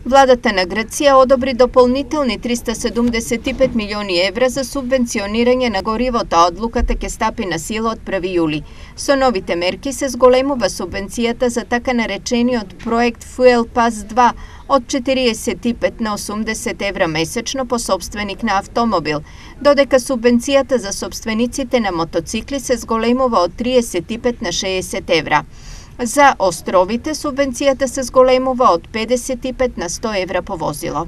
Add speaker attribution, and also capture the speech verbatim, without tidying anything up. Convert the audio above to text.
Speaker 1: Владата на Грција одобри дополнителни триста седумдесет и пет милиони евра за субвенционирање на горивото, а одлуката ќе стапи на сила од први јули. Со новите мерки се зголемува субвенцијата за така наречениот проект Fuel Pass два од четириесет и пет на осумдесет евра месечно по собственик на автомобил, додека субвенцијата за собствениците на мотоцикли се зголемува од триесет и пет на шеесет евра. За островите субвенцијата се зголемува од педесет и пет на сто евра по возило.